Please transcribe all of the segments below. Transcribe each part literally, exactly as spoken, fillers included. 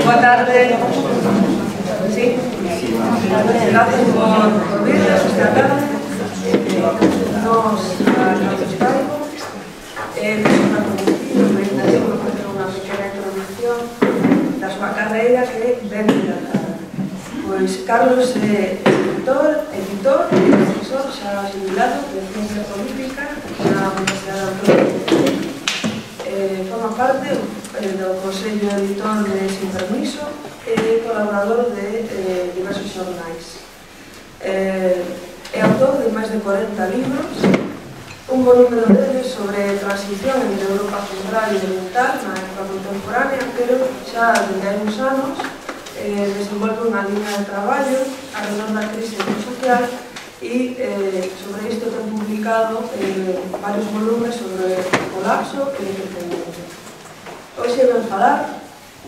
Boa tarde. Sí. Gracias por vernos esta tarde. Nos traigo. É unha presentación, vou facer unha pequena introducción da súa carreira que ben dilatada. Pois Carlos é escritor, editor e profesor xa jubilado de Ciencia Política na Universidade Autónoma de Madrid. Forma parte do Consello Editor de Sin Permiso e colaborador de diversos xornais. É autor de máis de corenta libros, un bo número deles sobre transición entre Europa Central e Oriental na época contemporánea, pero xa desde hai uns anos desenvolve unha línea de traballo alrededor da crise social e sobre isto ten publicado varios volumes sobre o colapso e o independencia. Hoxe ven falar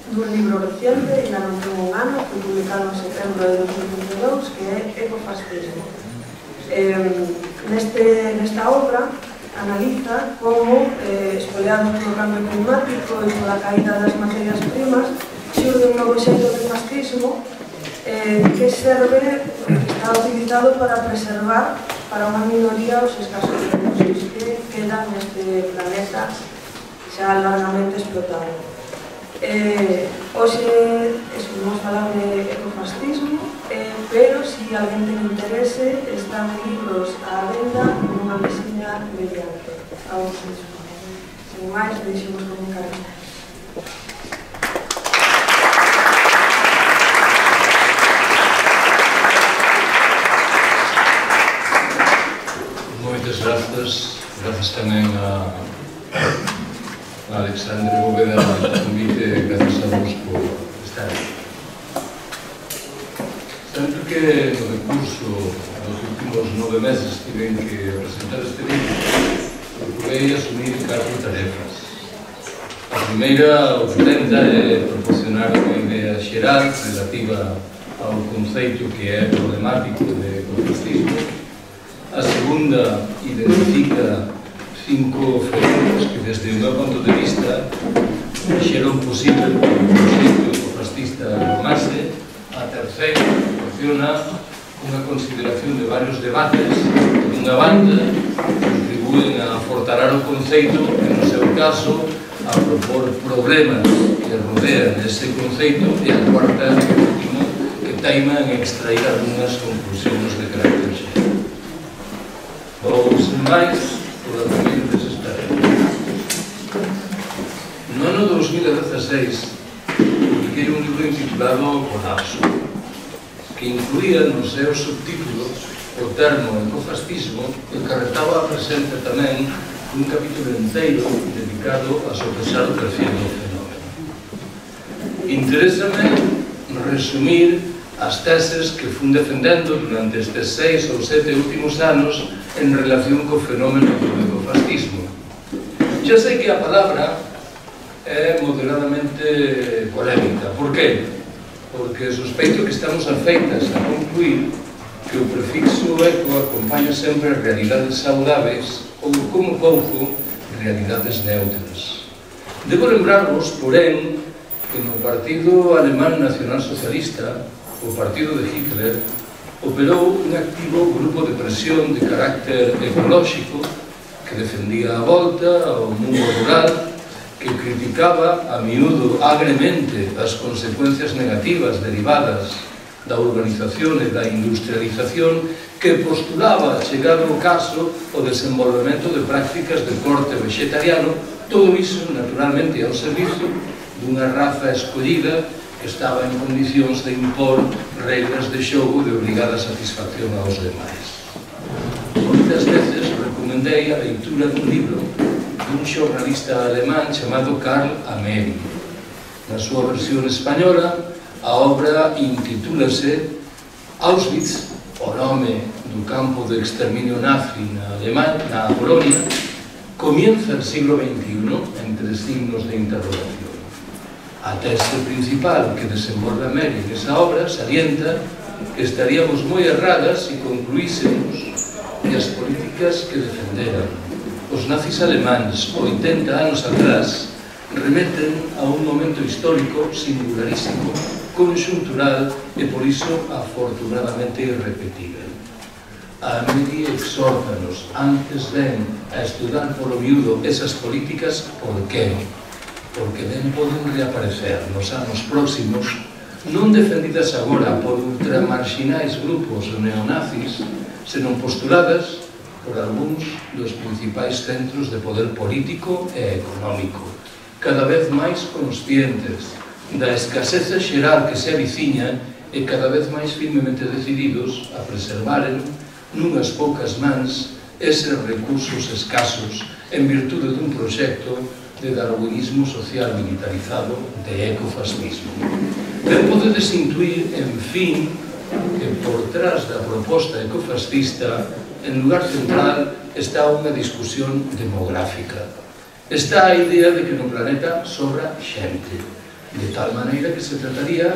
dun libro reciente, ainda non ten un ano, foi publicado en setembro de dos mil vinte e dous, que é Ecofascismo. Nesta obra analiza como, espoleados polo cambio climático e pola caída das materias primas, xurde un novo xeito de fascismo que serve, que está utilizado para preservar para unha minoría os escasos recursos que quedan neste planeta xa largamente explotado. Hoxe vamos falar de ecofascismo, pero se alguén ten interese, están libros á venda nunha veciña mediante a vos mesmo. Sen máis, deixemos comunicar isto. Moitas grazas, grazas tamén a Alexandre Bóveda polo convite, grazas a vos por estar aquí. Tanto que no decurso dos últimos nove meses tiven que presentar este libro, procurei asumir catro tarefas. A primeira, o que tenta, é proporcionar unha idea xeral relativa ao conceito que é problemático de ecofascismo. A segunda, identifica cinco fenómenos que, desde o meu ponto de vista, fixeron posible que o conceito ecofascista formase. A terceira, proporciona unha consideración de varios debates que, dunha banda, contribúen a fortalar o conceito e, no seu caso, a propor problemas que rodean ese conceito, e a cuarta e última, que teima en extrair algunhas conclusións de carácter xeral. Vou, sen máis, por a primeira desas tarefas. No ano dos mil dezasseis, publiquei un libro intitulado Colapso, que incluía no seu subtítulo o termo ecofascismo e carretaba a presenza tamén un capítulo inteiro dedicado a sopesar o perfil do fenómeno. Interésame resumir as teses que fun defendendo durante estes seis ou sete últimos anos en relación co fenómeno do ecofascismo. Xa sei que a palabra é moderadamente polémica. Por qué? Porque sospeito que estamos afeitas a concluir que o prefixo eco acompaña sempre realidades saudáveis ou, como pouco, realidades neutras. Debo lembrarvos, porén, que no Partido Alemán Nacional Socialista, o partido de Hitler, operou un activo grupo de presión de carácter ecolóxico que defendía a volta ao mundo rural, que criticaba a miúdo agremente as consecuencias negativas derivadas da urbanización e da industrialización, que postulaba, chegado o caso, o desenvolvemento de prácticas de corte vegetariano, todo iso, naturalmente, ao servizo dunha raza escollida que estaba en condicións de impor regras de xogo de obligada satisfacción aos demais. Moitas veces recomendei a leitura dun libro dun xornalista alemán chamado Karl Ameri. Na súa versión española, a obra intitúlase Auschwitz, o nome do campo de exterminio nazi na Alemanha, na Polonia, comienza el siglo veintiuno, entre signos de interrogación. A tese principal que desenvolve Ameri nesa obra salienta que estaríamos moi erradas se concluísemos que as políticas que defenderan os nazis alemáns oitenta anos atrás remeten a un momento histórico singularísimo, conxuntural e, por iso, afortunadamente irrepetível. A Medi exhórtanos, antes ben, a estudar polo miúdo esas políticas, por que? Porque ben poden reaparecer nos anos próximos, non defendidas agora por ultramarxinais grupos neonazis, senón postuladas por algúns dos principais centros de poder político e económico, cada vez máis conscientes da escaseza xeral que se aviciña e cada vez máis firmemente decididos a preservaren nunhas poucas mans eses recursos escasos en virtude dun proxecto de darwinismo social militarizado de ecofascismo. Ben podedes intuir, en fin, que por trás da proposta ecofascista, en lugar central, está unha discusión demográfica. Está a idea de que no planeta sobra xente, de tal maneira que se trataría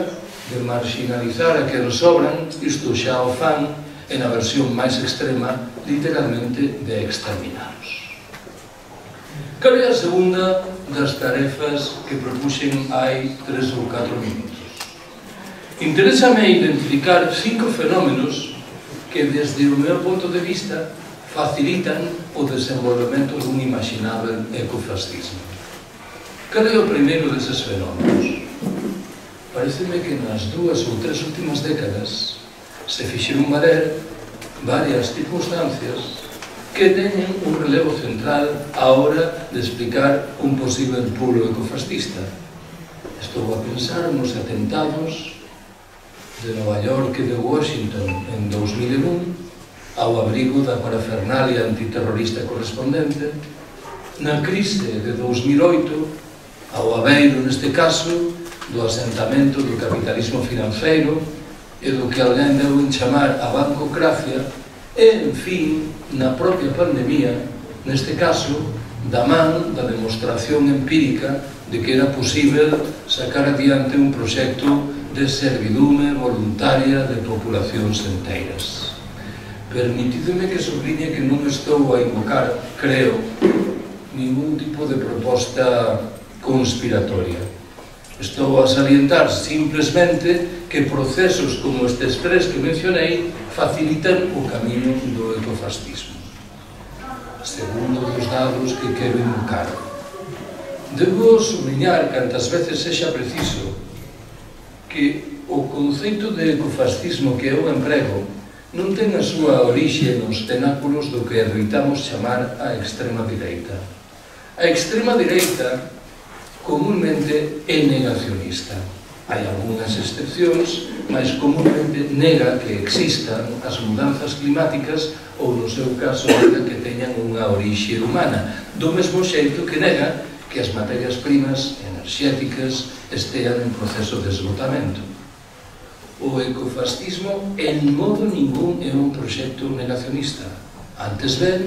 de marginalizar a quen sobran, isto xa o fan, en a versión máis extrema, literalmente de exterminaros. Cal é a segunda das tarefas que propuxen hai tres ou catro minutos? Interésame identificar cinco fenómenos que, desde o meu ponto de vista, facilitan o desenvolvemento dun imaginável ecofascismo. Cal é o primeiro deses fenómenos? Pareceme que nas dúas ou tres últimas décadas se fixeron valer varias circunstancias que teñen un relevo central á hora de explicar un posible polo ecofascista. Estou a pensar nos atentados de Nova York e de Washington en dous mil e un, ao abrigo da parafernalia antiterrorista correspondente, na crise de dous mil oito, ao abeiro, neste caso, do asentamento do capitalismo financeiro e do que alguén deu en chamar a bancocracia, e, en fin, na propia pandemia, neste caso, da man da demostración empírica de que era posible sacar adiante un proxecto de servidume voluntaria de populacións enteiras. Permitideme que subliñe que non estou a invocar, creo, ningún tipo de proposta conspiratoria. Estou a salientar simplesmente que procesos como estes tres que mencionei facilitan o camiño do ecofascismo. Segundo dos dados que quero invocar, debo subliñar cantas veces sexa preciso que o conceito de ecofascismo que eu emprego non ten a súa orixe nos cenáculos do que adoitamos chamar a extrema direita. A extrema direita comúnmente é negacionista. Hai algunhas excepcións, mas comúnmente nega que existan as mudanzas climáticas ou, no seu caso, nega que teñan unha orixe humana, do mesmo xeito que nega que as materias primas enerxéticas estean en proceso de esgotamento. O ecofascismo en modo ningún é un proxecto negacionista. Antes ben,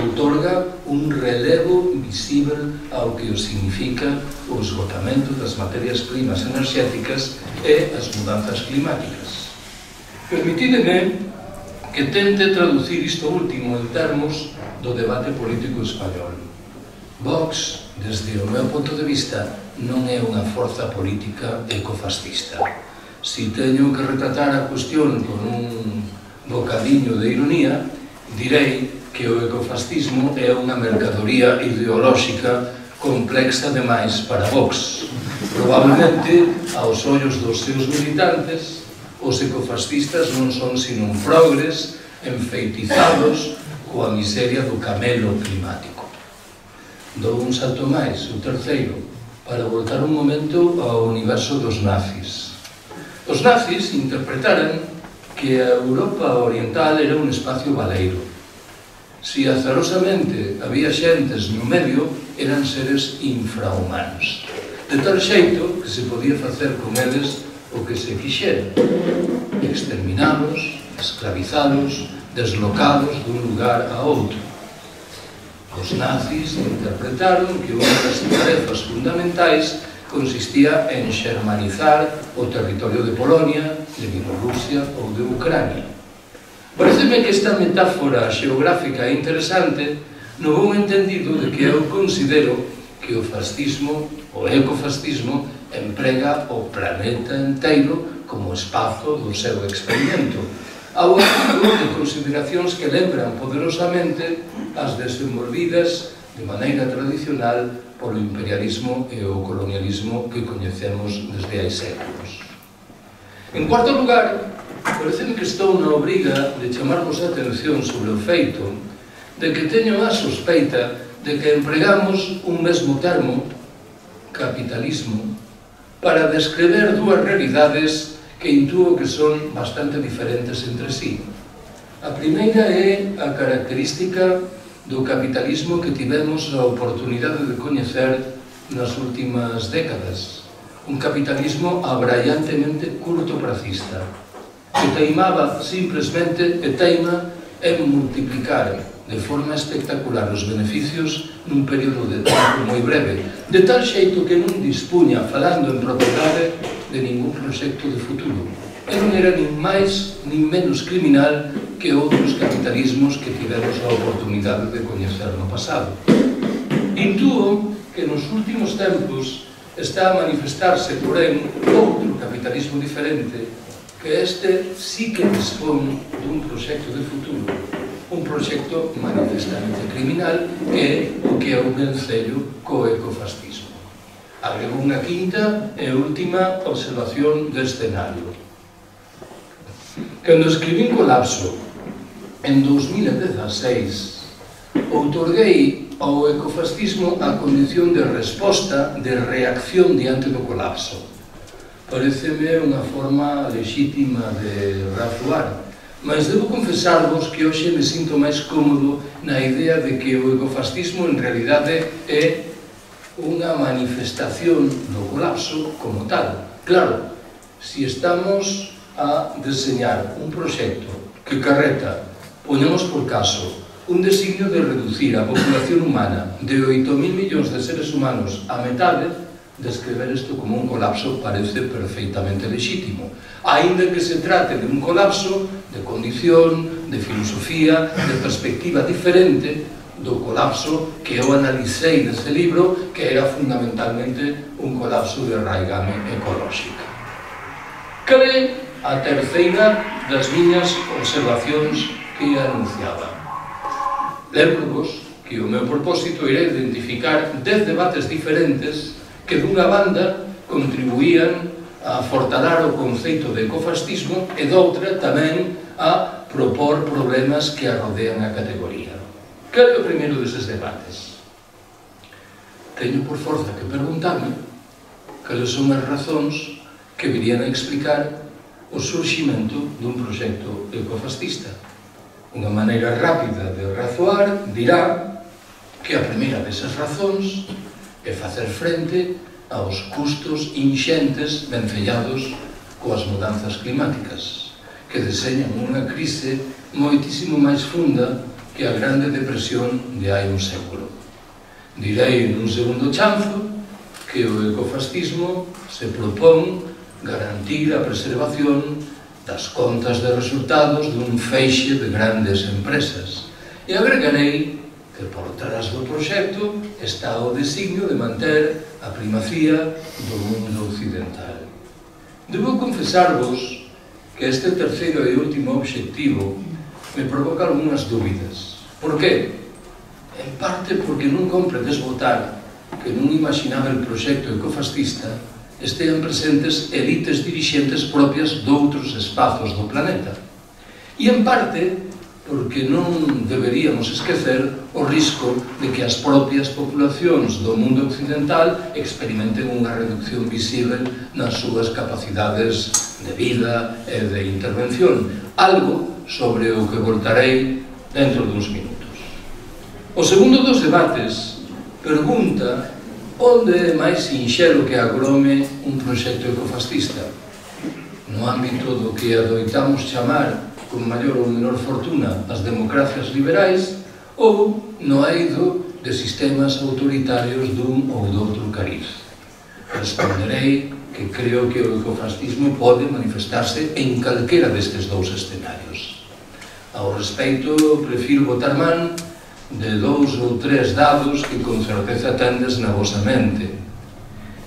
outorga un relevo visible ao que o significa o esgotamento das materias primas enerxéticas e as mudanzas climáticas. Permitídeme que tente traducir isto último en termos do debate político español. Vox, desde o meu ponto de vista, non é unha forza política ecofascista. Si teño que retratar a cuestión con un bocadiño de ironía, direi que o ecofascismo é unha mercadoría ideolóxica complexa demais para Vox. Probablemente, aos ollos dos seus militantes, os ecofascistas non son sino un progres enfeitizados coa miseria do camelo climático. Dou un salto máis, o terceiro, para voltar un momento ao universo dos nazis. Os nazis interpretaran que a Europa oriental era un espacio baleiro. Si azarosamente había xentes no medio, eran seres infrahumanos, de tal xeito que se podía facer con eles o que se quixera: exterminalos, esclavizalos, deslocalos dun lugar a outro. Os nazis interpretaron que unha das tarefas fundamentais consistía en xermanizar o territorio de Polonia, de Bielorrusia ou de Ucrania. Pareceme que esta metáfora xeográfica é interesante no bon entendido de que eu considero que que o fascismo, o ecofascismo, emprega o planeta inteiro como espazo do seu experimento, ao artigo de consideracións que lembran poderosamente as desenvolvidas de maneira tradicional polo imperialismo e o colonialismo que coñecemos desde hai séculos. En cuarto lugar, pareceme que estou na obriga de chamarvos a atención sobre o feito de que teño a sospeita de que empregamos un mesmo termo, capitalismo, para descrever dúas realidades que intúo que son bastante diferentes entre sí. A primeira é a característica do capitalismo que tivemos a oportunidade de coñecer nas últimas décadas. Un capitalismo abraiantemente curtoprazista, que teimaba simplesmente e teima en multiplicar de forma espectacular os beneficios nun período de tempo moi breve, de tal xeito que non dispuña, falando en propiedade, de ningún proxecto de futuro. E non era nin máis nin menos criminal que outros capitalismos que tivemos a oportunidade de coñecer no pasado. Intúo que nos últimos tempos está a manifestarse, porén, outro capitalismo diferente, que este sí que dispón dun proxecto de futuro, un proxecto manifestamente criminal, que é o que é o vencello co ecofascismo. Agrego unha quinta e última observación do escenario. Cando escribín Colapso, en dous mil dezasseis, outorguei ao ecofascismo a condición de resposta, de reacción diante do colapso. Pareceme unha forma lexítima de razoar, mas debo confesarvos que hoxe me sinto máis cómodo na idea de que o ecofascismo en realidade é unha manifestación do colapso como tal. Claro, se estamos a deseñar un proxecto que carreta, poñamos por caso, un designio de reducir a populación humana de oito mil millóns de seres humanos a metade, descrever isto como un colapso parece perfeitamente lexítimo, aínda que se trate de un colapso de condición, de filosofía, de perspectiva diferente do colapso que eu analicei neste libro, que era fundamentalmente un colapso de raigame ecolóxica. Cal é a terceira das miñas observacións que anunciaba? Lembro-vos que o meu propósito era identificar dez debates diferentes que dunha banda contribuían a fortalar o conceito de ecofascismo e doutra tamén a propor problemas que arrodean a categoría. Cal é o primeiro deses debates? Teño por forza que preguntarme cales son as razóns que virían a explicar o surximento dun proxecto ecofascista. Unha maneira rápida de razoar dirá que a primeira desas razóns é facer frente aos custos inxentes vencellados coas mudanzas climáticas, que deseñan unha crise moitísimo máis funda que a Grande Depresión de hai un século. Direi nun segundo chanzo que o ecofascismo se propón garantir a preservación das contas de resultados dun feixe de grandes empresas. E agregarei que por trás do proxecto está o designio de manter a primacía do mundo occidental. Debo confesarvos que este terceiro e último obxectivo me provoca algunhas dúbidas. Por qué? En parte porque non compre desbotar que nun imaginável proxecto ecofascista estean presentes elites dirixentes propias doutros espazos do planeta. E en parte porque non deberíamos esquecer o risco de que as propias populacións do mundo occidental experimenten unha reducción visível nas súas capacidades de vida e de intervención, algo sobre o que voltarei dentro duns minutos. O segundo dos debates pregunta onde é máis sinxelo que agrome un proxecto ecofascista, no ámbito do que adoitamos chamar con maior ou menor fortuna as democracias liberais ou no eido de sistemas autoritarios dun ou doutro cariz. Responderei que creo que o ecofascismo pode manifestarse en calquera destes dous escenarios. Ao respecto, prefiro botar man de dous ou tres dados que con certeza tendes na vosa mente.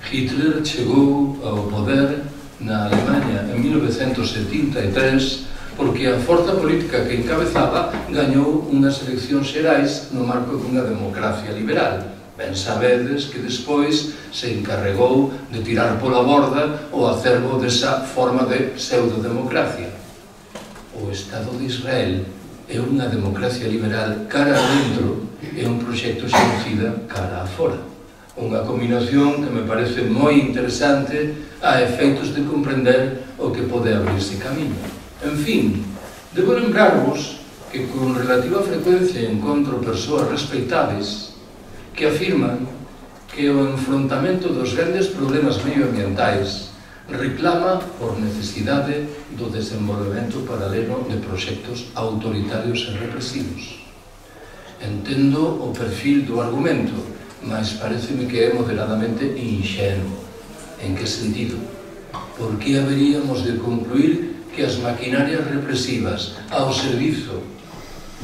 Hitler chegou ao poder na Alemanha en mil novecentos setenta e tres porque a forza política que encabezaba gañou unhas eleccións xerais no marco dunha democracia liberal. Ben sabedes que despois se encarregou de tirar pola borda o acervo desa forma de pseudodemocracia. O Estado de Israel é unha democracia liberal cara adentro e un proxecto xenocida cara afora. Unha combinación que me parece moi interesante a efeitos de comprender o que pode abrirse camiño. En fin, debo lembrarvos que con relativa frecuencia encontro persoas respectables que afirman que o enfrontamento dos grandes problemas medioambientais reclama por necesidade do desenvolvemento paralelo de proxectos autoritarios e represivos. Entendo o perfil do argumento, mas pareceme que é moderadamente inxenuo. En que sentido? Por que haberíamos de concluir que as maquinarias represivas ao servizo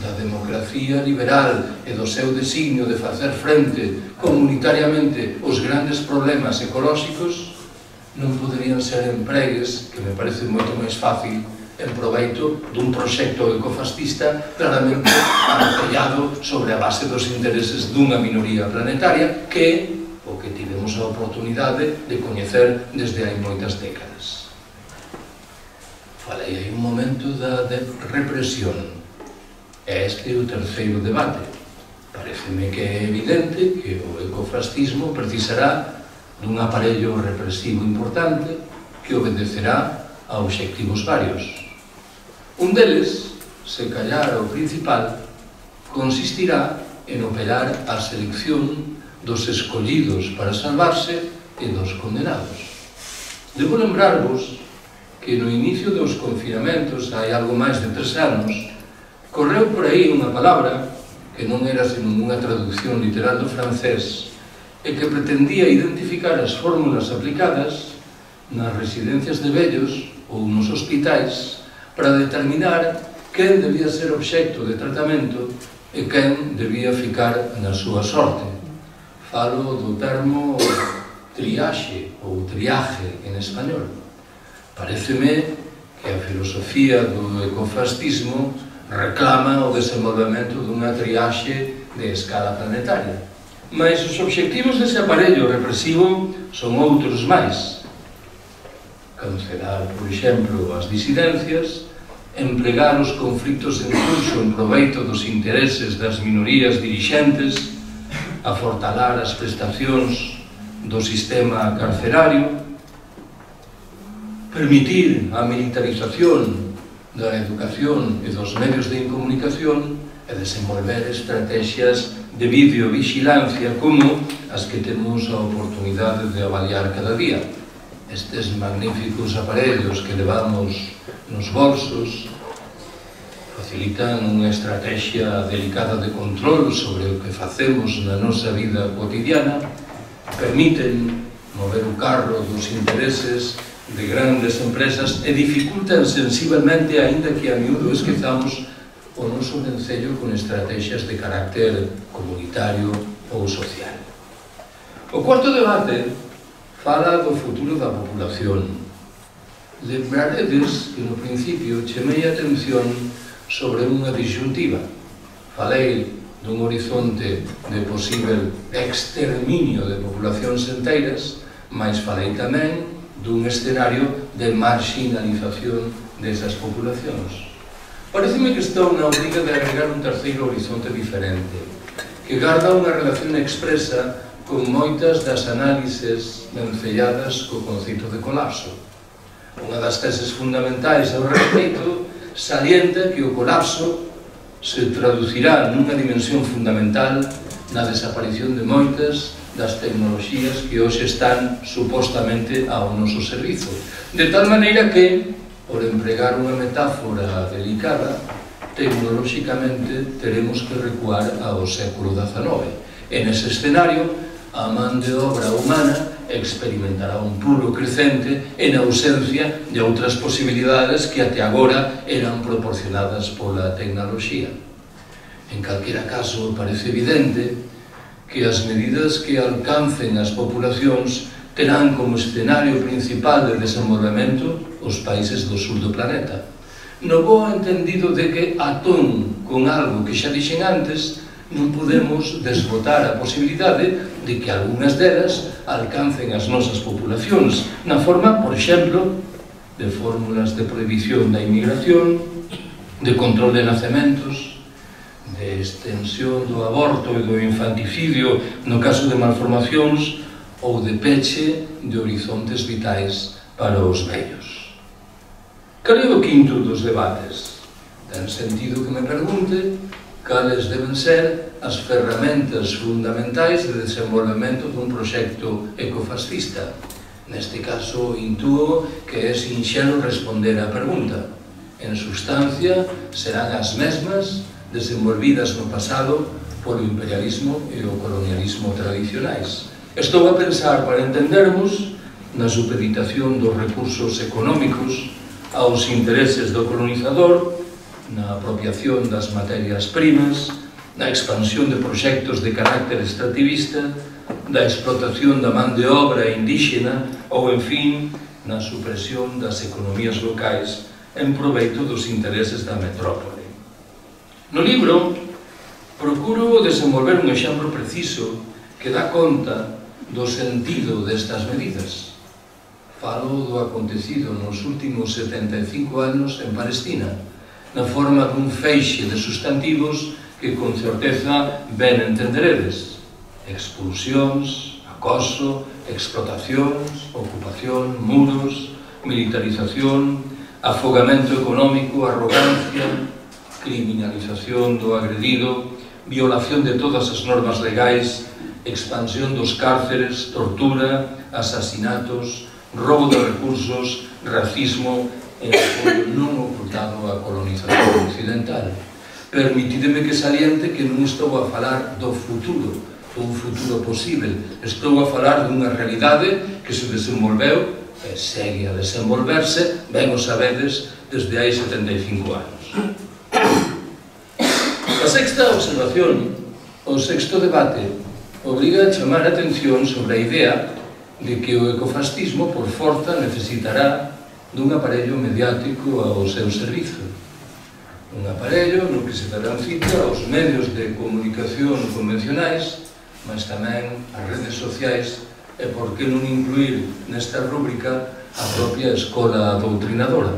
da democracia liberal e do seu designio de facer frente comunitariamente aos grandes problemas ecolóxicos non poderían ser empregues, que me parece moito máis fácil, en proveito dun proxecto ecofascista claramente apoiado sobre a base dos intereses dunha minoría planetaria que o que tivemos a oportunidade de coñecer desde hai moitas décadas. Falei hai un momento da represión. Este é o terceiro debate. Pareceme que é evidente que o ecofascismo precisará dun aparello represivo importante que obedecerá a obxectivos varios. Un deles, se callar o principal, consistirá en operar a selección dos escollidos para salvarse e dos condenados. Debo lembrarvos que no inicio dos confinamentos, hai algo máis de tres anos, correu por aí unha palabra que non era senón unha traducción literal do francés e que pretendía identificar as fórmulas aplicadas nas residencias de vellos ou nos hospitais para determinar quen debía ser obxecto de tratamento e quen debía ficar na súa sorte. Falo do termo triaxe ou triaje en español. Pareceme que a filosofía do ecofascismo reclama o desenvolvemento dunha triaxe de escala planetaria. Mas os obxectivos dese aparello represivo son outros máis. Cancelar, por exemplo, as disidencias, emplegar os conflitos en curso en proveito dos intereses das minorías dirixentes, afortalar as prestacións do sistema carcerario, permitir a militarización da educación e dos medios de comunicación e desenvolver estrategias de videovigilancia como as que temos a oportunidade de avaliar cada día. Estes magníficos aparellos que levamos nos bolsos facilitan unha estrategia delicada de control sobre o que facemos na nosa vida cotidiana, permiten mover o carro dos intereses de grandes empresas e dificultan sensiblemente, aínda que a miúdo esquezamos, o noso vencello con estrategias de carácter comunitario ou social. O cuarto debate fala do futuro da populación. Lembraredes que no principio chamei a atención sobre unha disyuntiva. Falei dun horizonte de posible exterminio de populacións enteiras, mas falei tamén dun escenario de marginalización desas populacións. Pareceme que estou na obriga de agregar un terceiro horizonte diferente, que garda unha relación expresa con moitas das análises vencelladas co conceito de colapso. Unha das teses fundamentais ao respecto salienta que o colapso se traducirá nunha dimensión fundamental na desaparición de moitas das tecnoloxías que hoxe están supostamente ao noso servizo. De tal maneira que, por empregar unha metáfora delicada, tecnolóxicamente teremos que recuar ao século dezanove. En ese escenario, a man de obra humana experimentará un pulo crecente en ausencia de outras posibilidades que até agora eran proporcionadas pola tecnoloxía. En calquera caso, parece evidente que as medidas que alcancen as populacións terán como escenario principal de desenvolvemento os países do sur do planeta. No bo entendido de que, atón con algo que xa dixen antes, non podemos desbotar a posibilidade de que algunhas delas alcancen as nosas populacións na forma, por exemplo, de fórmulas de prohibición da inmigración, de control de nacementos, de extensión do aborto e do infanticidio no caso de malformacións ou de peche de horizontes vitais para os vellos. Cal é o quinto dos debates? Ten sentido que me pregunte cales deben ser as ferramentas fundamentais de desenvolvemento dun proxecto ecofascista. Neste caso, intuo que é sinxelo responder á pergunta. En substancia, serán as mesmas desenvolvidas no pasado polo imperialismo e o colonialismo tradicionais. Estou a pensar, para entendermos, na supeditación dos recursos económicos aos intereses do colonizador, na apropiación das materias primas, na expansión de proxectos de carácter extractivista, da explotación da man de obra indígena ou, en fin, na supresión das economías locais en proveito dos intereses da metrópole. No libro, procuro desenvolver un exemplo preciso que dá conta do sentido destas medidas. Falo do acontecido nos últimos setenta e cinco anos en Palestina, na forma dun feixe de sustantivos que con certeza ben entenderedes: expulsións, acoso, explotacións, ocupación, muros, militarización, afogamento económico, arrogancia, criminalización do agredido, violación de todas as normas legais, expansión dos cárceres, tortura, asasinatos, roubo de recursos, racismo e apoio non ocultado á colonización occidental. Permitideme que saliente que non estou a falar do futuro, dun futuro posible. Estou a falar dunha realidade que se desenvolveu e segue a desenvolverse, ben o sabedes, desde hai setenta e cinco anos. A sexta observación, o sexto debate, obriga a chamar a atención sobre a idea de que o ecofascismo, por forza, necesitará dun aparello mediático ao seu servizo. Un aparello no que se darán cita aos medios de comunicación convencionais, mas tamén as redes sociais, e por que non incluir nesta rúbrica a propia escola doutrinadora.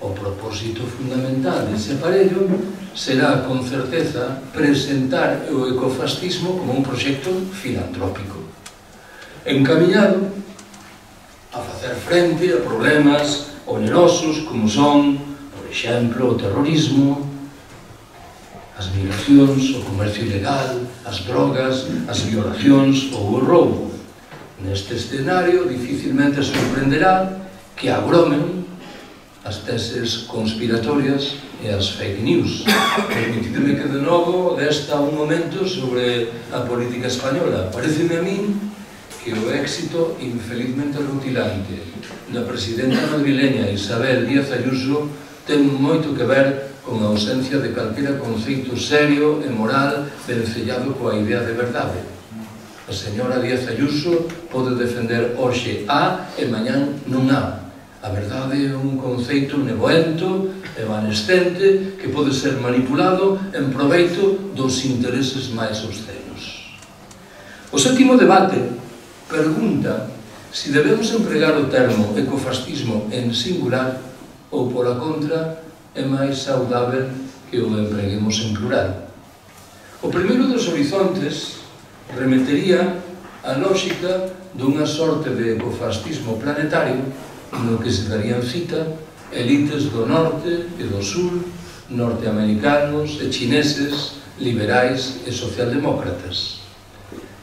O propósito fundamental dese aparello será, con certeza, presentar o ecofascismo como un proxecto filantrópico, encaminhado a facer frente a problemas onerosos como son, por exemplo, o terrorismo, as migracións, o comercio ilegal, as drogas, as violacións ou o roubo. Neste escenario, dificilmente sorprenderá que agromen as teses conspiratorias e as fake news. Permitideme que de novo desta un momento sobre a política española. Pareceme a min que o éxito infelizmente rutilante da presidenta madrileña Isabel Díaz Ayuso ten moito que ver con a ausencia de calquera conceito serio e moral vencellado coa idea de verdade. A señora Díaz Ayuso pode defender hoxe A e mañán non A. A verdade é un conceito nevoento, evanescente, que pode ser manipulado en proveito dos intereses máis obscenos. O sétimo debate pregunta se debemos empregar o termo ecofascismo en singular ou, pola contra, é máis saudável que o empreguemos en plural. O primeiro dos horizontes remetería a lógica dunha sorte de ecofascismo planetario no que se darían cita elites do norte e do sur, norteamericanos e chineses, liberais e socialdemócratas.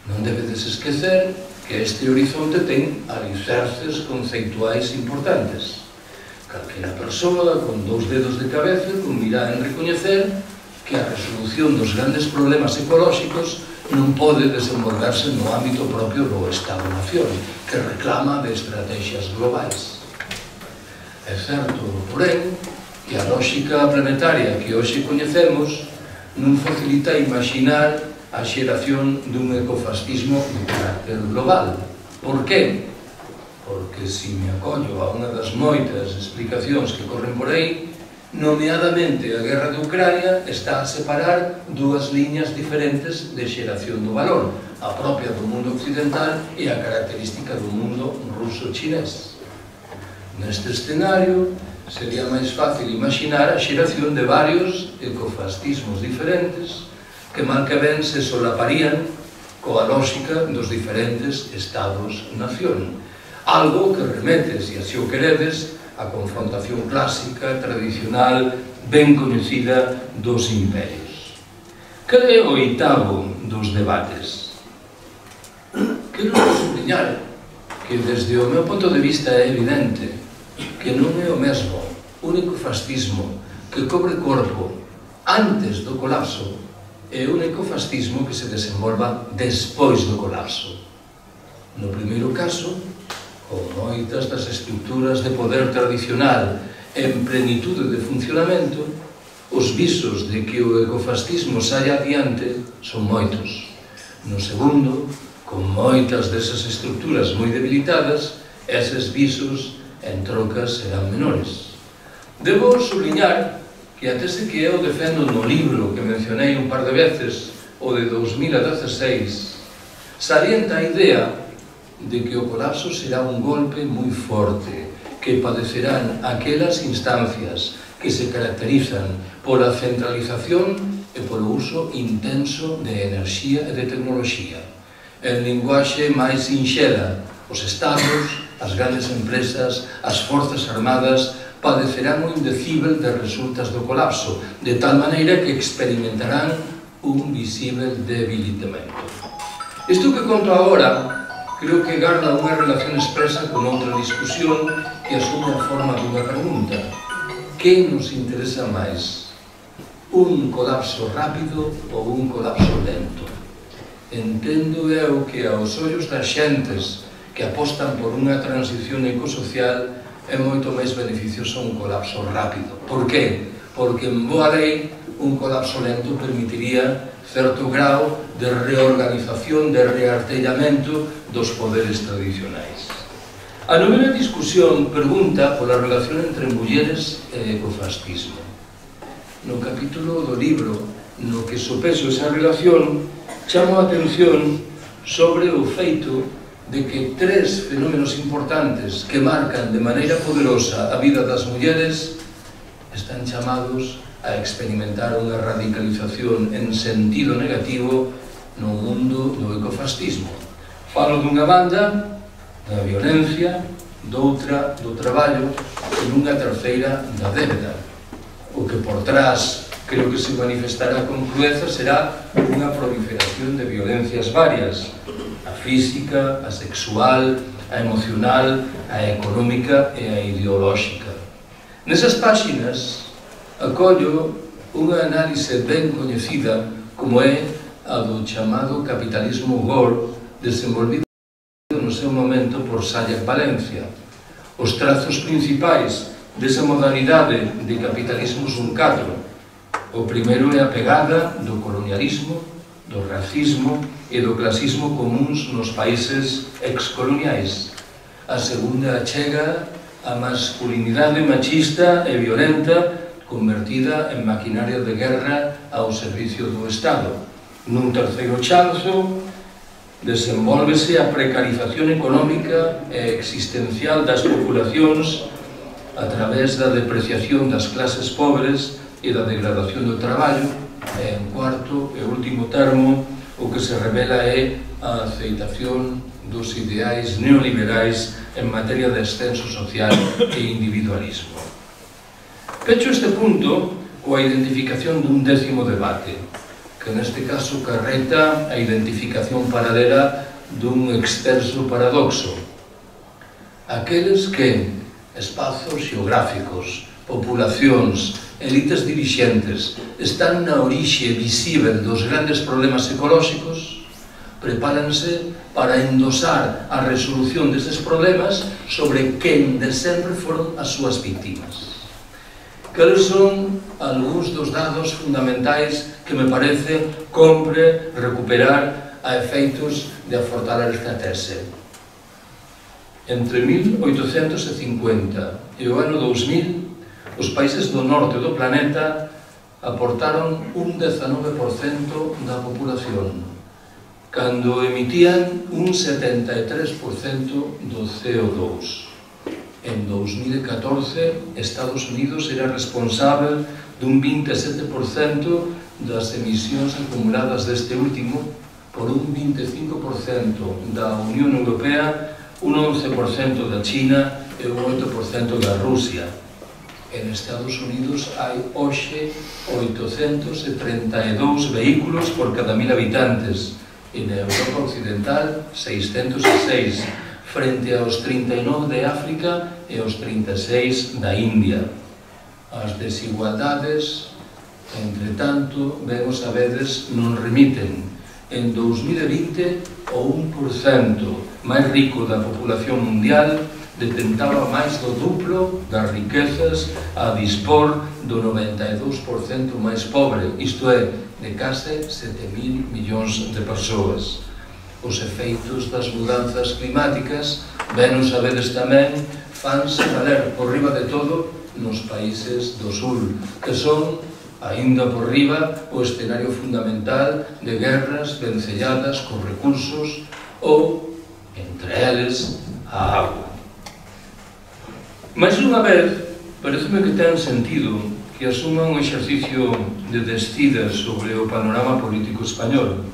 Non debedes esquecer que este horizonte ten alicerces conceituais importantes. Calquera persoa con dous dedos de cabeza convirá en recoñecer que a resolución dos grandes problemas ecolóxicos non pode desenvolverse no ámbito propio do Estado-nación, que reclama de estrategias globais. É certo, porén, que a lógica planetaria que hoxe coñecemos non facilita imaginar a xeración dun ecofascismo de carácter global. Por qué? Porque se me acollo a unha das moitas explicacións que corren por aí, nomeadamente a guerra de Ucrania está a separar dúas liñas diferentes de xeración do valor, a propia do mundo occidental e a característica do mundo ruso-chinés. Neste escenario, sería máis fácil imaginar a xeración de varios ecofascismos diferentes que mal que ben se solaparían coa lógica dos diferentes estados-nación. Algo que remete, se así o queredes, a confrontación clásica, tradicional, ben coñecida dos imperios. Cal é o oitavo dos debates? Quero subliñar que desde o meu punto de vista é evidente que non é o mesmo un ecofascismo que cobre corpo antes do colapso e un ecofascismo que se desenvolva despois do colapso. No primeiro caso, con moitas das estructuras de poder tradicional en plenitude de funcionamento, os visos de que o ecofascismo saia adiante son moitos. No segundo, con moitas desas estructuras moi debilitadas, eses visos en trocas serán menores. Debo subliñar que a tese que eu defendo no libro que mencionei un par de veces, o de dos mil dezasseis, salienta a idea de que o colapso será un golpe moi forte que padecerán aquelas instancias que se caracterizan pola centralización e polo uso intenso de enerxía e de tecnoloxía. En linguaxe máis sinxela, os estados, as grandes empresas, as forzas armadas padecerán o indecível de resultas do colapso, de tal maneira que experimentarán un visível debilitamento. Isto que conto agora creo que garda unha relación expresa con outra discusión que asume a forma dunha pregunta. Que nos interesa máis? Un colapso rápido ou un colapso lento? Entendo eu que aos ollos das xentes que apostan por unha transición ecosocial é moito máis beneficioso un colapso rápido. Por qué? Porque en boa lei un colapso lento permitiría certo grau de reorganización, de reartellamento dos poderes tradicionais. A novena discusión pregunta pola relación entre mulleres e ecofascismo. No capítulo do libro no que sopeso esa relación, chamo a atención sobre o feito de que tres fenómenos importantes que marcan de maneira poderosa a vida das mulleres están chamados a experimentar unha radicalización en sentido negativo no mundo do ecofascismo. Falo dunha banda da violencia, doutra do traballo e dunha terceira da débeda. O que por trás creo que se manifestará con crueza será unha proliferación de violencias varias: a física, a sexual, a emocional, a económica e a ideolóxica. Nesas páxinas acollo unha análise ben coñecida como é a do chamado capitalismo gore desenvolvido no seu momento por Sayek Valencia. Os trazos principais desa modalidade de capitalismo son catro. O primeiro é a pegada do colonialismo, do racismo e do clasismo comuns nos países excoloniais. A segunda chega a masculinidade machista e violenta convertida en maquinaria de guerra ao servicio do Estado. Nun terceiro chanzo, desenvólvese a precarización económica e existencial das populacións a través da depreciación das clases pobres e da degradación do traballo. E en cuarto e último termo, o que se revela é a aceitación dos ideais neoliberais en materia de ascenso social e individualismo. Pecho este punto coa identificación dun décimo debate, que neste caso carreta a identificación paralela dun extenso paradoxo. Aqueles que espazos xeográficos, populacións, elites dirixentes están na orixe visível dos grandes problemas ecolóxicos, prepáranse para endosar a resolución destes problemas sobre quen de sempre foron as súas víctimas. Cales son algúns dos dados fundamentais que me parece compre recuperar a efeitos de afortalar esta tese? Entre mil oitocentos cincuenta e o ano dous mil, os países do norte do planeta aportaron un dezanove por cento da populación, cando emitían un setenta e tres por cento do C O dous. En dous mil catorce, Estados Unidos era responsável dun vinte e sete por cento das emisións acumuladas deste último, por un vinte e cinco por cento da Unión Europea, un once por cento da China e un oito por cento da Rusia. En Estados Unidos hai hoxe oitocentos trinta e dous vehículos por cada mil habitantes, e na Europa Occidental seiscentos e seis, frente aos trinta e nove de África e aos trinta e seis da India. As desigualdades, entre tanto, vemos a veces non remiten. En dous mil vinte, o un por cento máis rico da población mundial detentaba máis do duplo das riquezas a dispor do noventa e dous por cento máis pobre, isto é, de case sete mil millóns de persoas. Os efeitos das mudanzas climáticas, ben os sabedes tamén, fanse valer por riba de todo nos países do sur, que son, aínda por riba, o escenario fundamental de guerras vencelladas con recursos ou, entre eles, a agua. Mais unha vez, pareceme que ten sentido que asuma un exercicio de descida sobre o panorama político español.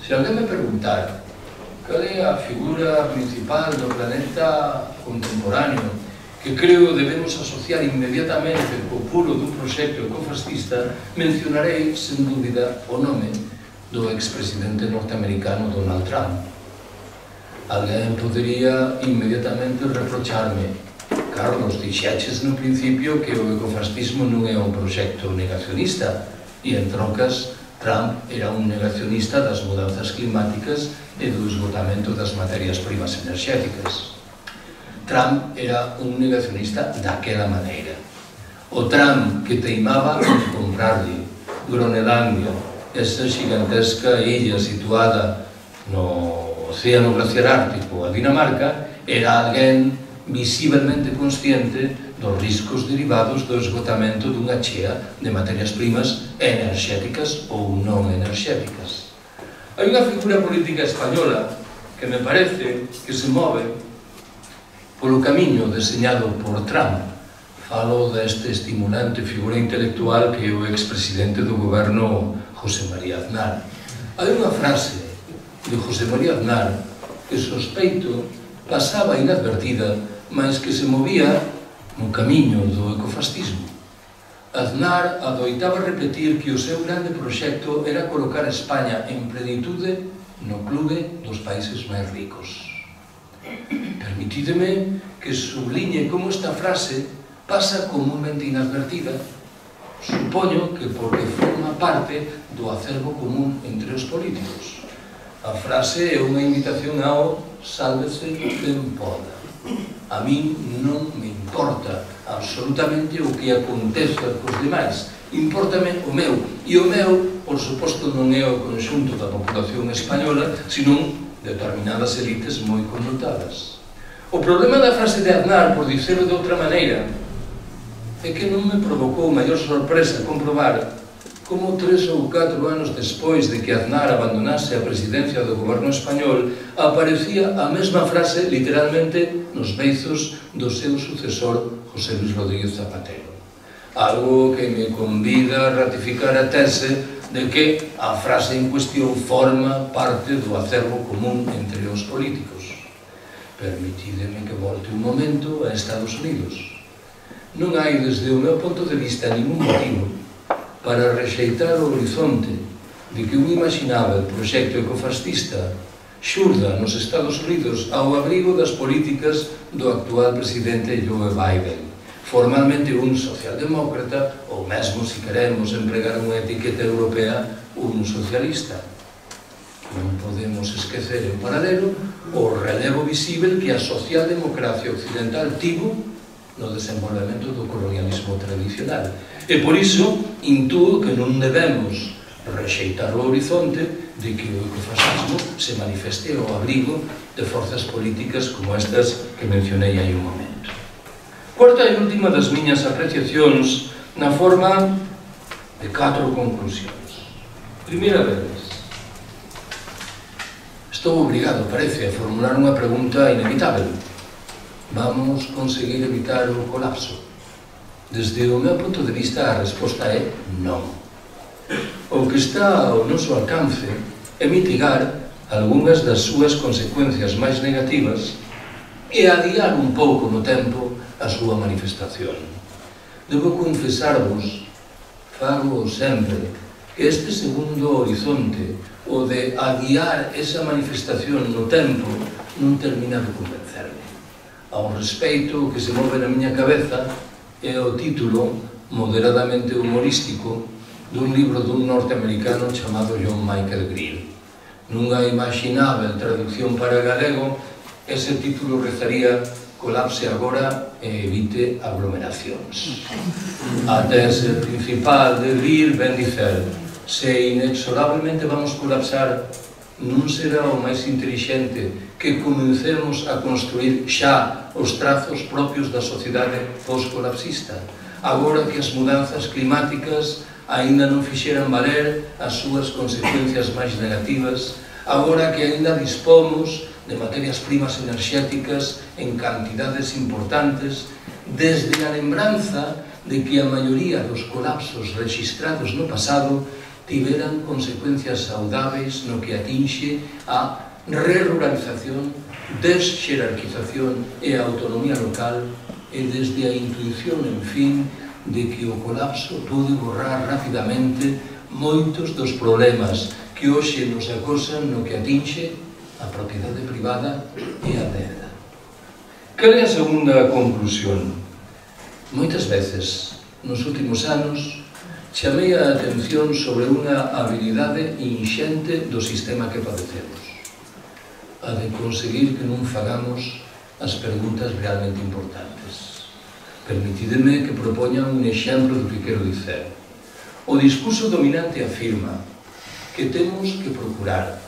Se alguén me preguntar cal é a figura principal do planeta contemporáneo que creo debemos asociar inmediatamente co puro dun proxecto ecofascista, mencionarei, sen dúbida, o nome do expresidente norteamericano Donald Trump. Alguén podería inmediatamente reprocharme: Carlos, dixeches no principio que o ecofascismo non é un proxecto negacionista, e en trocas Trump era un negacionista das mudanzas climáticas e do esgotamento das materias primas enerxéticas. Trump era un negacionista daquela maneira. O Trump que teimaba en comprarlle Groenlandia, esa gigantesca illa situada no Océano Glaciar Ártico, a Dinamarca, era alguén visiblemente consciente dos riscos derivados do esgotamento dunha chea de materias primas enerxéticas ou non enerxéticas. Hai unha figura política española que me parece que se move polo camiño deseñado por Trump. Falo deste estimulante figura intelectual que é o expresidente do goberno José María Aznar. Hai unha frase de José María Aznar que sospeito pasaba inadvertida, mas que se movía no camiño do ecofascismo. Aznar adoitaba repetir que o seu grande proxecto era colocar a España en plenitude no clube dos países máis ricos. Permitídeme que subliñe como esta frase pasa comúnmente inadvertida. Supoño que porque forma parte do acervo común entre os políticos. A frase é unha invitación ao sálvese quen poda. A min non me importa absolutamente o que aconteza cos demais. Importame o meu. E o meu, por suposto, non é o conxunto da populación española, senón determinadas elites moi connotadas. O problema da frase de Aznar, por dicirlo de outra maneira, é que non me provocou maior sorpresa comprobar como tres ou catro anos despois de que Aznar abandonase a presidencia do goberno español, aparecía a mesma frase literalmente nos beizos do seu sucesor José Luis Rodríguez Zapatero. Algo que me convida a ratificar a tese de que a frase en cuestión forma parte do acervo común entre os políticos. Permitídeme que volte un momento a Estados Unidos. Non hai, desde o meu ponto de vista, ningún motivo para rexeitar o horizonte de que un imaginável proxecto ecofascista xurda nos Estados Unidos ao abrigo das políticas do actual presidente Joe Biden, formalmente un socialdemócrata, ou mesmo, se queremos empregar unha etiqueta europea, un socialista. Non podemos esquecer en paralelo o relevo visível que a socialdemocracia occidental tivo no desenvolvemento do colonialismo tradicional. E por iso, intúo que non debemos rexeitar o horizonte de que o ecofascismo se manifeste ao abrigo de forzas políticas como estas que mencionei hai un momento. Cuarta e última das miñas apreciacións na forma de catro conclusións. Primeira vez, estou obrigado, parece, a formular unha pregunta inevitável. Vamos conseguir evitar o colapso? Desde o meu punto de vista, a resposta é non. O que está ao noso alcance é mitigar algunhas das súas consecuencias máis negativas e adiar un pouco no tempo a súa manifestación. Debo confesarvos, fago sempre, que este segundo horizonte, o de adiar esa manifestación no tempo, non termina de convencerme. Ao respeito, o que se move na miña cabeza é o título moderadamente humorístico dun libro dun norteamericano chamado John Michael Greer. Nunha imaginável traducción para galego, ese título rezaría "Colapse agora e evite aglomeracións". A tese principal de Greer ben dicer: se inexorablemente vamos colapsar, non será o máis intelixente que comencemos a construir xa os trazos propios da sociedade post-colapsista, agora que as mudanzas climáticas aínda non fixeran valer as súas consecuencias máis negativas, agora que aínda dispomos de materias primas enerxéticas en cantidades importantes, desde a lembranza de que a maioría dos colapsos registrados no pasado tiveran consecuencias saudáveis no que atinxe a re-ruralización, desxerarquización e a autonomía local, e desde a intuición, en fin, de que o colapso pode borrar rapidamente moitos dos problemas que hoxe nos acosan no que atinxe a propiedade privada e a terra. Cal é a segunda conclusión? Moitas veces, nos últimos anos, chamei a atención sobre unha habilidade inxente do sistema que padecemos, a de conseguir que non fagamos as preguntas realmente importantes. Permitideme que propoña un exemplo do que quero dicer. O discurso dominante afirma que temos que procurar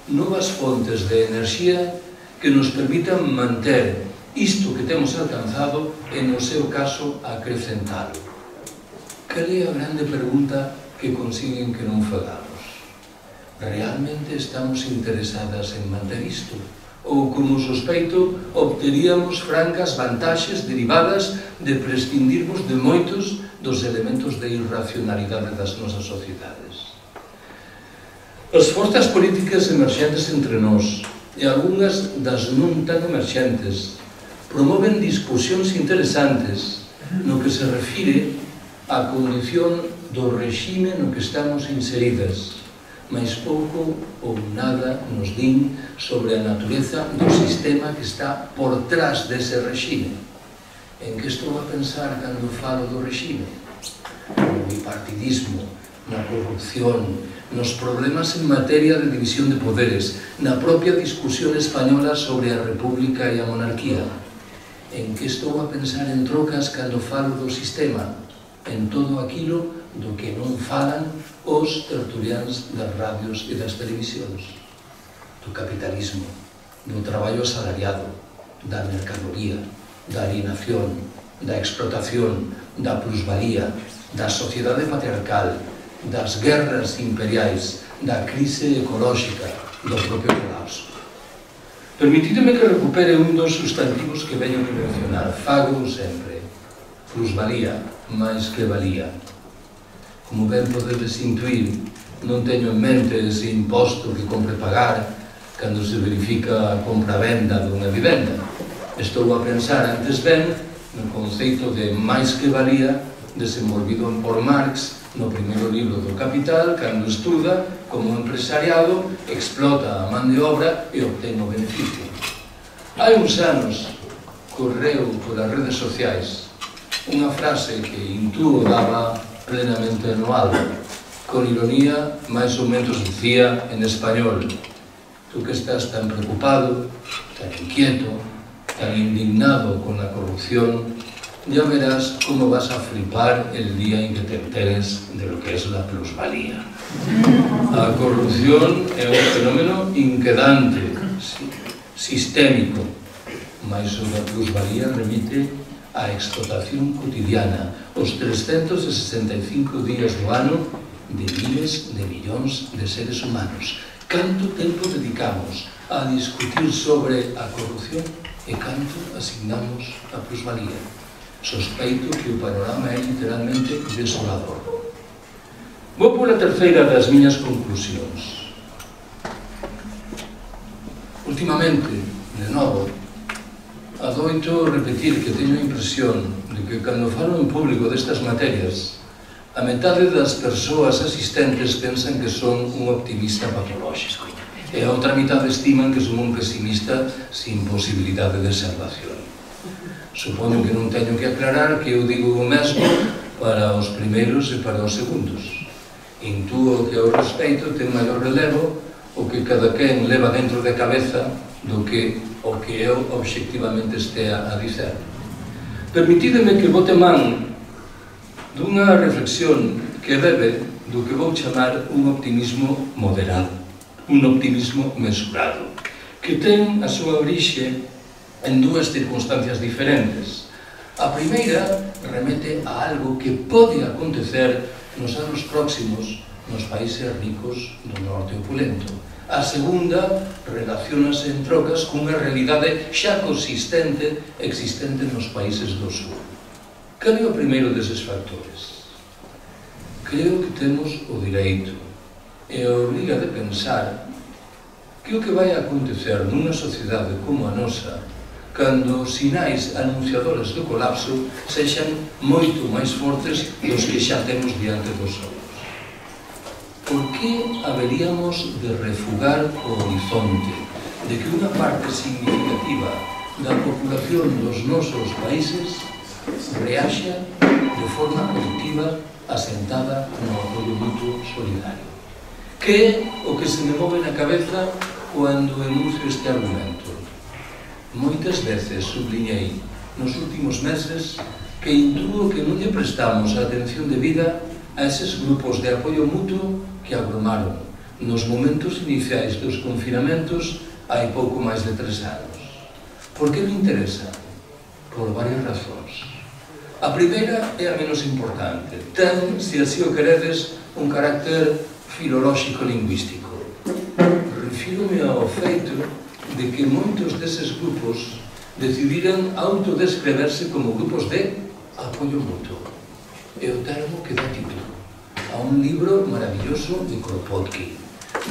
novas fontes de enerxía que nos permitan manter isto que temos alcanzado e, no seu caso, acrecentalo. Cal é a grande pregunta que consiguen que non fagamos? Realmente estamos interesadas en manter isto? Ou, como sospeito, obteríamos francas vantaxes derivadas de prescindirmos de moitos dos elementos de irracionalidade das nosas sociedades? As forzas políticas emerxentes entre nós e algunhas das non tan emerxentes promoven discusións interesantes no que se refire a condición do regime no que estamos inseridas, mais pouco ou nada nos din sobre a natureza do sistema que está por trás dese regime. En que estou a pensar cando falo do regime? No bipartidismo, na corrupción, nos problemas en materia de división de poderes, na propia discusión española sobre a república e a monarquía. En que estou a pensar en trocas cando falo do sistema? En todo aquilo do que non falan os tertuliáns das radios e das televisións, do capitalismo, do traballo asalariado, da mercadoría, da alienación, da explotación, da plusvalía, da sociedade patriarcal, das guerras imperiais, da crise ecolóxica, do propio colapso. Permitideme que recupere un dos sustantivos que veño de mencionar, fago sempre: plusvalía máis que valía. Como ben podedes intuir, non teño en mente ese imposto que compre pagar cando se verifica a compra-venda dunha vivenda. Estou a pensar antes ben no conceito de máis que valía desenvolvido por Marx no primeiro libro do Capital, cando estuda como o empresariado explota a man de obra e obtén o beneficio. Hai uns anos correu polas redes sociais unha frase que intúo daba plenamente no albo. Con ironía, máis ou menos dicía en español: tú que estás tan preocupado, tan inquieto, tan indignado con la corrupción, ya verás cómo vas a flipar el día en que te enteres de lo que es la plusvalía. A corrupción é un fenómeno inquedante, sistémico, mas sobre a plusvalía remite a explotación cotidiana, os trescentos sesenta e cinco días do ano de miles de millóns de seres humanos. Canto tempo dedicamos a discutir sobre a corrupción e canto asignamos a plusvalía? Sospeito que o panorama é literalmente desolador. Vou pola terceira das miñas conclusións. Últimamente, de novo, adoito repetir que teño a impresión de que cando falo en público destas materias, a metade das persoas asistentes pensan que son un optimista patolóxico e a outra mitad estiman que son un pesimista sin posibilidade de salvación. Supoño que non teño que aclarar que eu digo o mesmo para os primeiros e para os segundos. Intúo que ao respeito ten maior relevo o que cada quen leva dentro da cabeza do que o que eu obxectivamente estea a dicer. Permitídeme que bote man dunha reflexión que bebe do que vou chamar un optimismo moderado, un optimismo mesurado, que ten a súa orixe en dúas circunstancias diferentes. A primeira remete a algo que pode acontecer nos anos próximos nos países ricos do norte opulento. A segunda relacionase en trocas cunha realidade xa consistente existente nos países do sur. Cal é o primeiro deses factores? Creo que temos o direito e a obriga de pensar que o que vai acontecer nunha sociedade como a nosa cando os sinais anunciadores do colapso sexan moito máis fortes dos que xa temos diante dos ollos. Por que haberíamos de refugar o horizonte de que unha parte significativa da populación dos nosos países reaxa de forma colectiva asentada no apoio mutuo solidario? Que é o que se me move na cabeza cando enuncio este argumento? Moitas veces subliñei nos últimos meses que intúo que non lle prestamos a atención debida a eses grupos de apoio mutuo que agrumaron nos momentos iniciais dos confinamentos hai pouco máis de tres anos. Por que me interesa? Por varias razóns. A primeira é a menos importante. Ten, se así o queredes, un carácter filolóxico-lingüístico. Refírome ao feito de que moitos deses grupos decidiran autodescreverse como grupos de apoio mutuo. É o termo que dá título a un libro maravilloso de Kropotkin,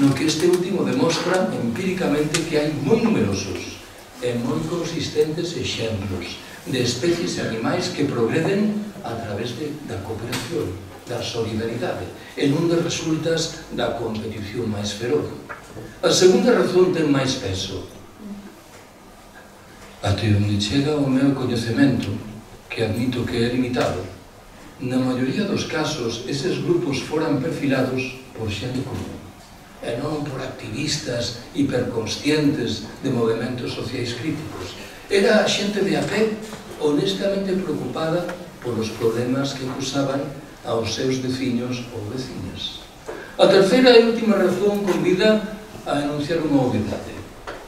no que este último demostra empíricamente que hai moi numerosos e moi consistentes exemplos de especies animais que progreden a través de, da cooperación, da solidaridade, e non de resultas da competición máis feroz. A segunda razón ten máis peso. Até onde chega o meu coñecemento, que admito que é limitado, na maioría dos casos, eses grupos foran perfilados por xente común, e non por activistas hiperconscientes de movimentos sociais críticos. Era xente de a pé, honestamente preocupada polos problemas que acusaban aos seus veciños ou veciñas. A terceira e última razón convida a enunciar unha obviedade.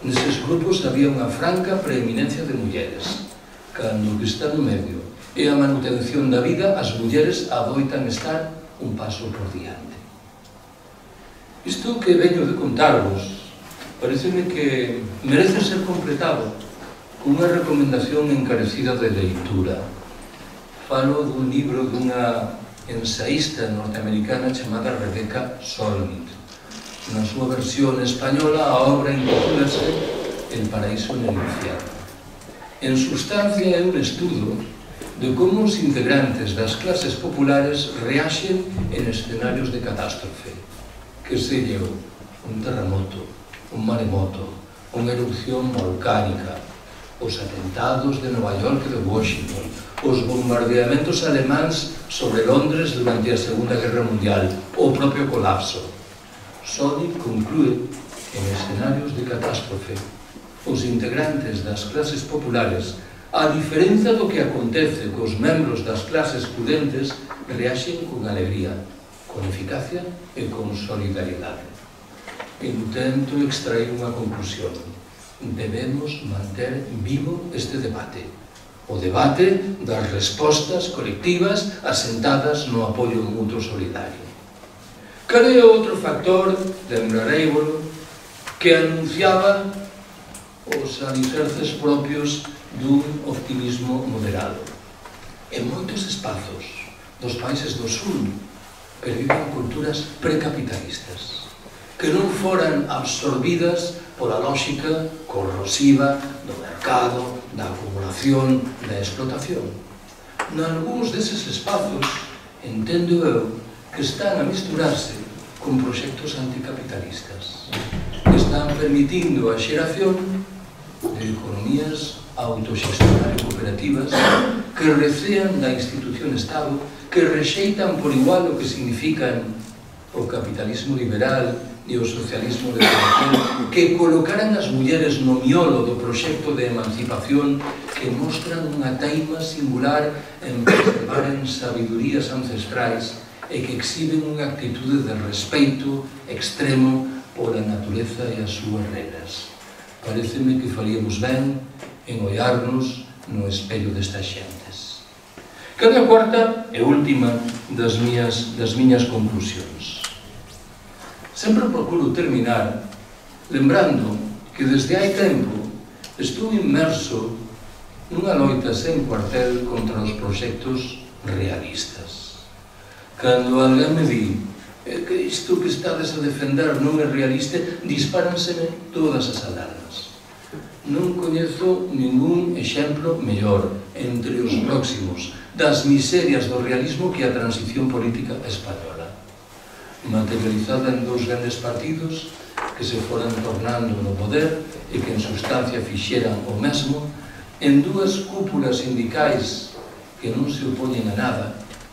Neses grupos había unha franca preeminencia de mulleres. Cando o que está no medio e a manutención da vida, as mulleres adoitan estar un paso por diante. Isto que veño de contarvos pareceme que merece ser completado cunha recomendación encarecida de leitura. Falo dun libro dunha ensaísta norteamericana chamada Rebecca Solnit. Na súa versión española, a obra intitúlase El paraíso en el infierno. En sustancia, é un estudo de como os integrantes das clases populares reaxen en escenarios de catástrofe, que selleu un terremoto, un maremoto, unha erupción volcánica, os atentados de Nova York e de Washington, os bombardeamentos alemáns sobre Londres durante a Segunda Guerra Mundial, o propio colapso. Solnit conclúe que en escenarios de catástrofe os integrantes das clases populares A diferenza do que acontece cos membros das clases prudentes, reaxen con alegría, con eficacia e con solidaridade. Intento extraer unha conclusión. Debemos manter vivo este debate. O debate das respostas colectivas asentadas no apoio mutuo solidario. Cal é outro factor, lembrareivolo, que anunciaba os alicerces propios dun optimismo moderado? En moitos espazos dos países do sur perviven culturas precapitalistas que non foran absorbidas pola lógica corrosiva do mercado, da acumulación, da explotación. Nalgúns deses espazos, entendo eu, que están a misturarse con proxectos anticapitalistas, que están permitindo a xeración de economías autoxestionar e cooperativas que recean da institución Estado, que rexeitan por igual o que significan o capitalismo liberal e o socialismo de producción, que colocaran as mulleres no miolo do proxecto de emancipación, que mostran unha taima singular en preservar en sabidurías ancestrais e que exhiben unha actitude de respeito extremo pola natureza e as súas regras. Pareceme que faríamos ben en ollarnos no espello destas xentes. Cada cuarta e última das miñas, das miñas conclusións. Sempre procuro terminar lembrando que desde hai tempo estou inmerso nunha loita sen cuartel contra os proxectos realistas. Cando alguén me di que isto que estades a defender non é realista, dispáranseme todas as alarmas. Non coñezo ningún exemplo mellor entre os próximos das miserias do realismo que a transición política española, materializada en dous grandes partidos que se foran tornando no poder e que en sustancia fixeran o mesmo, en dúas cúpulas sindicais que non se opoñen a nada,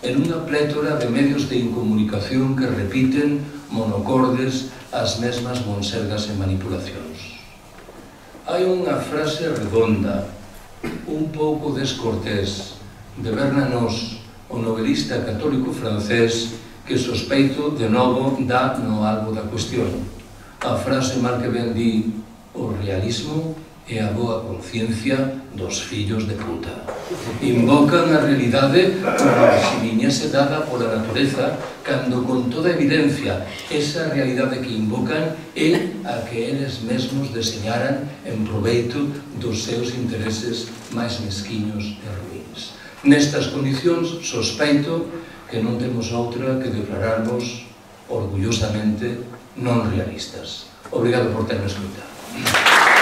en unha plétora de medios de incomunicación que repiten monocordes as mesmas bonsergas e manipulacións. Hai unha frase redonda, un pouco descortés, de Bernanos, o novelista católico francés, que sospeito de novo dá no albo da cuestión. A frase mal que ben di: o realismo é a boa conciencia dos fillos de puta. Invocan a realidade como se viñese dada pola natureza, cando con toda evidencia esa realidade que invocan é a que eles mesmos deseñaran en proveito dos seus intereses máis mesquiños e ruíns. Nestas condicións, sospeito que non temos outra que declararnos orgullosamente non realistas. Obrigado por terme escoitado.